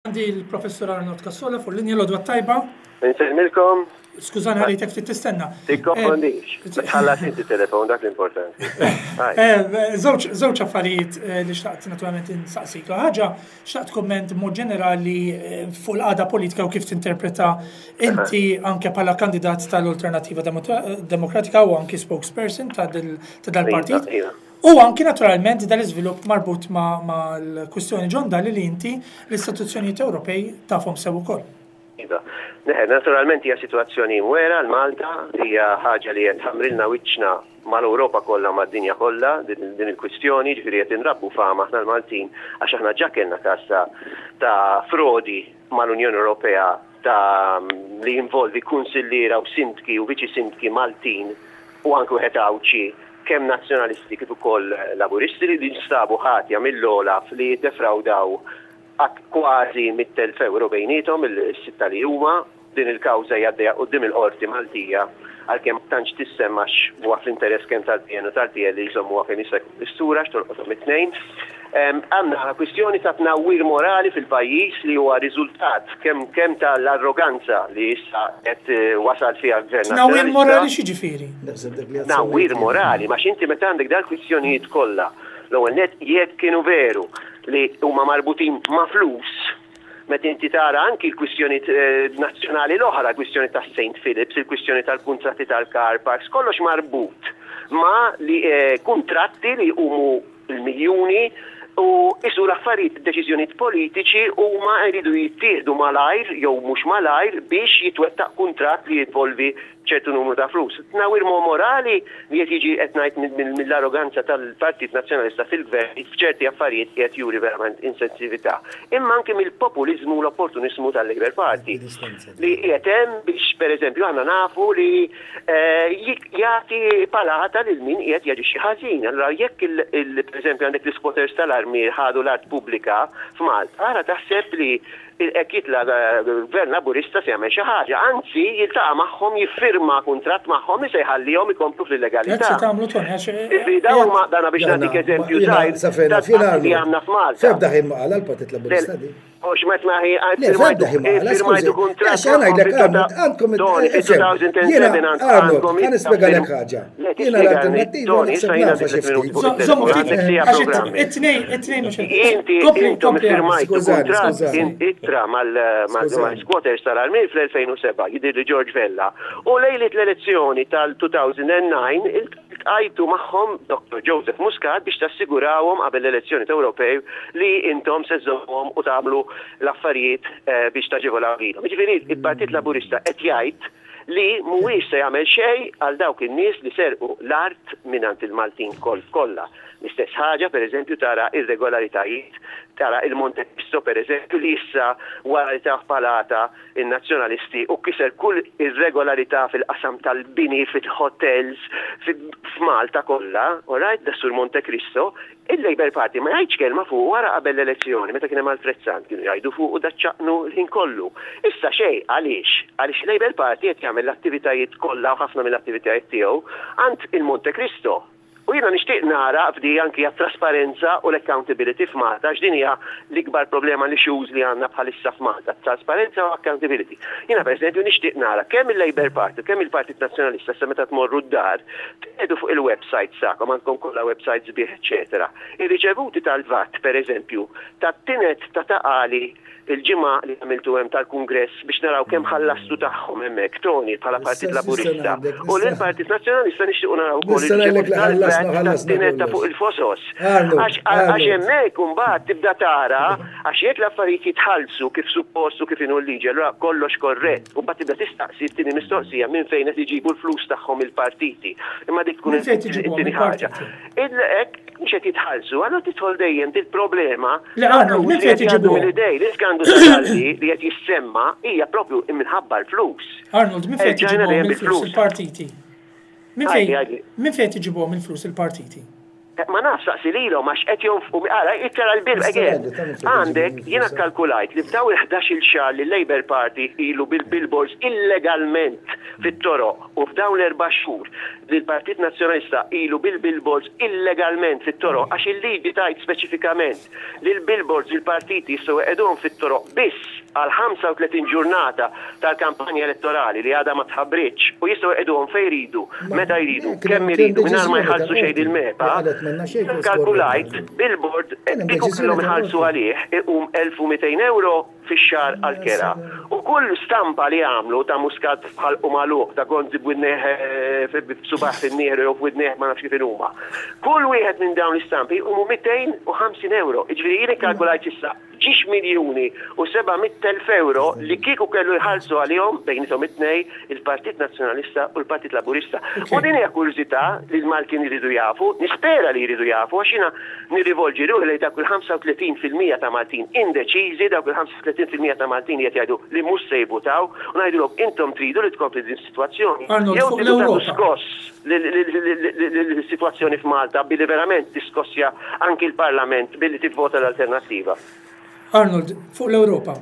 Għandi l-Professur Arnold Cassola fuq linja l-odwa tajba. Insellmilkom. Skużani ħalejtek ftit tistenna. Tikkonfondix. Eh, Tħallas inti telefon dak l-importanti. Eh, żewġ affarijiet eh, li xtaqt naturalment insaqsik. Ħaġa xtaqt komment mod ġenerali fuq l-qagħda politika u kif tinterpreta inti anke bħala kandidat tal-Alternativa Demokratika u anki spokesperson ta' dal-partit. Iva, iva. U anki naturalment dal-iżvilupp marbut mal-kwistjoni John Dalli li inti l-istituzzjonijiet Ewropej tafhom sew ukoll. Iva. Naturalment hija sitwazzjoni mwera għal Malta, hija ħaġa li qed tħammrilna wiċċna mal-Ewropa kollha u mad-dinja kollha din il-kwistjoni, jiġifieri qed inrabbu fama aħna l-Maltin għax aħna ġa kellna każ ta' ta' frodi mal-Unjoni Ewropea ta' li jinvolvi kunsilliera u sindki u viċi sindki Maltin u anke wieħed Għawdxi kemm Nazzjonalisti kif ukoll Laburisti li nstabu ħatja mill-OLAF li ddefrawdaw kważi 100,000 ewro bejniethom is-sitta li huma. Din il-kawża hija għaddejja quddiem il-Qorti Maltija għalkemm ma tantx tissemma għax huwa fl-interess kemm tal-PN u tal-PL li jżommuha kemm jista' jkun mistura għax tolqothom it-tnejn. Għandna kwistjoni ta' tnawwir morali fil-pajjiż li huwa riżultat kemm kemm tal-arroganza li issa qed wasal fiha l-Gvern Nazzjonalista. Tnawwir morali x'jiġifieri? Tnawwir morali, għax inti meta għandek dal-kwistjonijiet kollha, l-ewwel nett jekk kienu veru li huma marbutin ma' flus, meta inti tara anki l-kwistjonijiet nazzjonali l-oħra, l-kwistjoni tas-Saint Philips, il-kwistjoni tal-kuntratti tal-car parks, kollox marbut ma' li kuntratti li jqumu l-miljuni u qisu l-affarijiet, id-deċiżjonijiet politiċi huma jridu jittieħdu malajr jew mhux malajr biex jitwettaq kuntratt li jinvolvi ċertu numru ta' flus. Tnawwir morali li qed jiġi qed ngħid mill-arroganza tal-Partit Nazzjonalista fil-Gvern li f'ċerti affarijiet qiegħed juri verament insensività. Imma anki mill-populiżmu u l-opportuniżmu tal-Labour Party li qiegħed hemm biex pereżempju aħna nafu li jagħti palata lil min qiegħed jaġixxi ħażin. Allura jekk pereżempju għandek l-isquatters tal-armier ħadu l-art pubblika f'Malta, ara taħseb li hekk jitla' gvern Laburista se jagħmel xi ħaġa. Anzi jiltaqa' magħhom, jiffirma kuntratt magħhom li se jħallihom ikomplu fl-illegalità. Hekk se tagħmlu Tony għax Jiġifieri dawn huma dana biex nagħtik eżempju żgħir ta' li għandna f'Malta. F'ebda ħin ma qalha l-Partit Laburista din. Mhux meta hi Le, f'ebda ħin ma qala, skużi. kuntratt Għax għana ngħidlek Arnold, għandkom Tony, Jiena fi 2007 Arnold, għandkom ħa nispjegalek ħaġa. Jiena l-alternattiva naħseb nafha xi ftit. Żommu ftit, għax it-tnejn, it-tnejn mhux Inti Kompli, intom kompli. iffirmajtu Skużani, kuntratt skużani. in ittra Skużani. mal-squatters tal-Armil fl-2007, jidhirli George Vella, u lejliet l-elezzjoni tal-2009 Iltqajtu magħhom Dottor Joseph Muscat biex tassigurawhom qabel l-elezzjonijiet Ewropej li intom se żżommuhom u tagħmlu l-affarijiet biex taġevolaw lilhom. Jiġifieri il-Partit Laburista qed jgħid li mhuwiex se jagħmel xejn għal dawk in-nies li serqu l-art mingħand il-Maltin kollha. L-istess ħaġa pereżempju tara irregolaritajiet, tara il-Monte Cristo pereżempju li issa wara li tah palata in-Nazzjonalisti u kiser kull irregolarità fil-qasam tal-bini fil-hotels f'Malta kollha, all right, das-Sur Monte Cristo, il-Labour Party ma jgħidx kelma fuqu wara qabel l-elezzjoni meta kien hemm Alfred Sant kienu jgħidu fuqu daċ-ċaqnu l-ħin kollu. Issa xejn, għaliex? Għaliex il-Labour Party qed jagħmel l-attivitajiet kollha u ħafna mill-attivitajiet tiegħu għand il-Monte Cristo. U jiena nixtieq nara f'di anki għat-trasparenza u l-accountability f'Malta għax din hija l-ikbar problema l-issues li għandna bħalissa f'Malta, trasparenza u accountability. Jiena pereżempju nixtieq nara kemm il-Labour Party u kemm il-Partit Nazzjonalista issa meta tmorru d-dar tqiegħdu fuq il-websites tagħkom, għandkom kollha websites sbieħ eċċetera, ir-riċevuti tal-VAT pereżempju tat-tined ta' Ta' Qali Il-ġimgħa li għamiltu hemm tal-Kungress biex naraw kemm ħallastu tagħhom hemmhekk, Tony, bħala Partit Laburista. U lill-Partit Nazzjonalista nixtiequ naraw ukoll il-riċevuti tal-VAT tat-tined ta' fuq il-fosos. Għax hemmhekk imbagħad tibda tara għax jekk l-affarijiet jitħallsu kif suppost u kif inhu l-liġi allura kollox korrett. U mbagħad tibda tistaqsi t-tieni mistoqsija minn fejn qed iġibu l-flus tagħhom il-partiti. Imma dik tkun it-tieni ħaġa. Hekk mhux qed jitħallsu, allura tidħol dejjem dil-problema. Le Arnold, minn fejn qed iġibuhom? Mill-idej, l-iskandlu ta' Dalli li qed jissemma hija propju minħabba l-flus. Arnold, minn fejn qed iġibuhom il-flus il-partiti? Minn fejn minn fejn qed iġibuhom il-flus il-partiti? Ma nafx saqsi lilhom għax qed jonfqu ara ittara l-bill again. Għandek jiena kkalkulajt li f'dawn il-ħdax-il xahar li l-Labour Party ilu bil-billboards illegalment fit-toroq u f'dawn l-erba' xhur li l-Partit Nazzjonalista ilu bil-billboards illegalment fit-toroq għax il-liġi tgħid speċifikament li l-billboards il-partiti jistgħu jqegħduhom fit-toroq biss għal 35 ġurnata tal-kampanja elettorali li għadha ma tħabbritx u jistgħu jqegħduhom fejn jridu, meta jridu, kemm iridu mingħajr ma jħallsu xejn lill-MEPA, ikkalkulajt billboard kieku kellhom iħallsu għalih iqum 1,200 ewro fix-xahar għall-kera. U kull stampa li għamlu ta' Muscat b'ħalqu magħluq, ta' Gonzi b'widnejh b'subgħajh fin-nieħru jew f'widnejh ma nafx kif inhuma. Kull wieħed minn dawn l-istampi jqumu 250 ewro. Jiġifieri jien ikkalkulajt s'issa ġiex miljuni u 700,000 ewro li kieku kellu jħallsu għalihom bejniethom it-tnejn il-Partit Nazzjonalista u l-Partit Laburista. U din hija kurżità li l-Maltin iridu jafu, nispera li jridu jafu għax jiena nirrivolġi ruħi lejn dawk il-35% ta' Maltin indeċiżi, dawk il-35% ta' Maltin li qed jgħidu li mhux se jivvutaw u ngħidulhom intom tridu li tkompli din is-sitwazzjoni jew tridu tagħtu skoss lis-sitwazzjoni f'Malta billi verament tiskossja anki l-Parlament billi tivvota l-alternattiva. Arnold, fuq l-Ewropa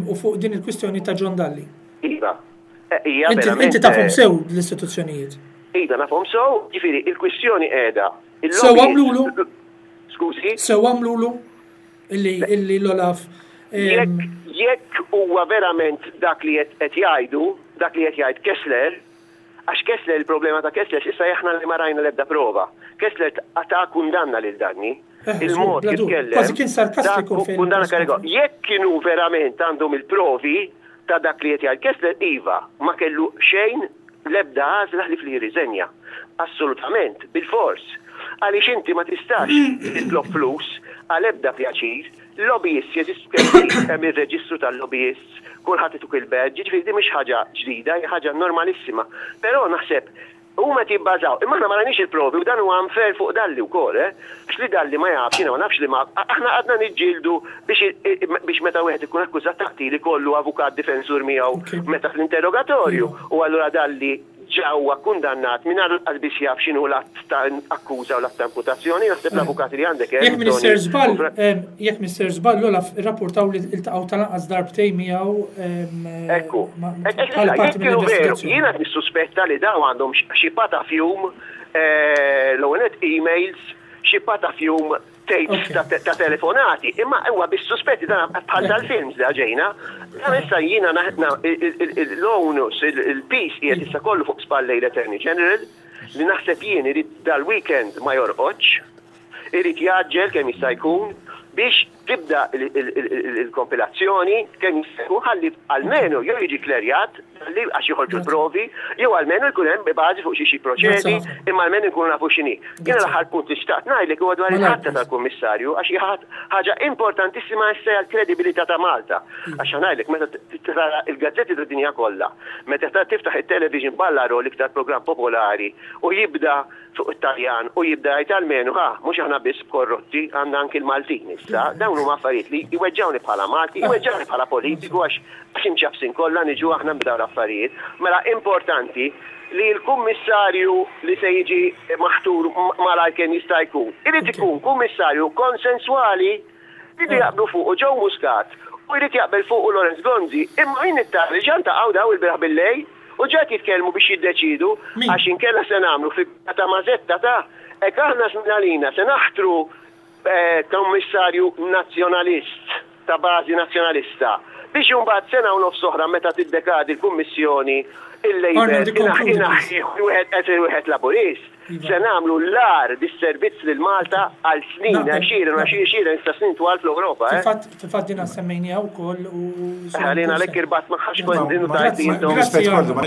u fuq din il-kwistjoni ta' John Dalli. Iva. Hija verament. Inti tafhom sew l-istituzzjonijiet. Iva, nafhom sew, jiġifieri il-kwistjoni qiegħda. Sew għamlulu? Skużi? Sew għamlulu illi l-Olaf. Jekk huwa verament dak li qed jgħidu, dak li qed jgħid Kessler, Għax Kessler, il-problema ta' Kessler s'issa hija aħna li ma rajna l-ebda prova. Kessler ta kundanna lil Danni. Il-mod kif tkellem. Kważi kien sarkastiku fil. Kundanna karigo. Jekk kienu verament għandhom il-provi ta' dak li qed jgħid Kessler, iva, ma kellu xejn l-ebda għażla ħlief li jirriżenja. Assolutament, bilfors. Għaliex inti ma tistax titlob flus għal ebda pjaċir Lobbyists jeżistu kemm trid, hemm ir-reġistru tal-lobbyists, kulħadd ituk il-badge, jiġifieri din mhix ħaġa ġdida, hija ħaġa normalissima. Però naħseb huma qed jibbażaw, imma aħna ma rajniex il-provi u dan huwa unfair fuq Dalli wkoll, eh! Għax li Dalli ma jafx, jiena ma nafx li ma, aħna qgħadna niġġieldu biex biex meta wieħed ikun akkużat ta' qtil ikollu avukat difensur miegħu meta fl-interrogatorju u allura Dalli ġa huwa kkundannat mingħajr lanqas biss jaf x'inhu l-att ta' akkuża u l-att ta' imputazzjoni, naħseb l-avukati li għandek hemm. Jekk m'iniex ser żball, jekk m'iniex ser żball, l-Olaf irrapportaw li ltaqgħu tal-anqas darbtejn miegħu Ekku. Bħala parti mill-investigazzjoni. Jiena qed nissuspetta li dawn għandhom xi patafjum, l-ewwel nett emails, xi patafjum tapes ta' telefonati, imma huwa biss suspetti dan bħal tal-films li ġejna. Dan issa jiena l-onus, il-piż qiegħed issa kollu fuq spallej l-Attorney General li naħseb jien irid dal-weekend ma jorqodx, irid jgħaġġel kemm jista' jkun biex tibda il-kompilazzjoni kemm jista' jkun ħalli almenu jew jiġi klerjat li għax joħorġu l-provi, jew almenu jkun hemm bażi fuq xiex jipproċedi, imma almenu nkunu nafu x'inhi. Jiena l-aħħar punt li xtaqt ngħidlek huwa dwar il-ħatra tal-Kummissarju għax hija ħaġa importantissima issa għall-kredibilità ta' Malta. Għax ħa ngħidlek meta tara l-gazzetti tad-dinja kollha, meta tiftaħ it-television Ballaro l-iktar programm popolari u jibda fuq it-Taljan u jibda jgħid almenu ħa, mhux aħna biss korrotti, għandna anki l-Maltin issa. Dawn huma affarijiet li jweġġgħuni bħala Malti, jweġġgħuni bħala politiku għax għax imċappsin kollha niġu aħna minn dawn l-affarijiet. Mela importanti li l-kummissarju li se jiġi maħtur malajr kemm jista' jkun, irid ikun kummissarju konsenswali Iridu jaqblu fuqu Joe Muscat u jrid jaqbel fuqu Lawrence Gonzi. Imma jien nittama li ġa ntaqgħu dawn ilbieraħ billejl u ġa qed jitkellmu biex jiddeċiedu għax inkella se nagħmlu figura ta' mażetta ta' hekk aħna żmien għalina se naħtru Kummissarju Nazzjonalist ta' bażi Nazzjonalista biex imbagħad sena u nofs oħra meta tiddekadi l-Kummissjoni il-Labour inaħħih wieħed qed wieħed Laburist. Se nagħmlu l-agħar disservizz lil Malta għal snin, għexieren u għexieren ta' snin twal fl-Ewropa. Fil-fatt din semmejniha wkoll u. Għalina għalhekk irbatt magħha x'kont din u tgħid intom.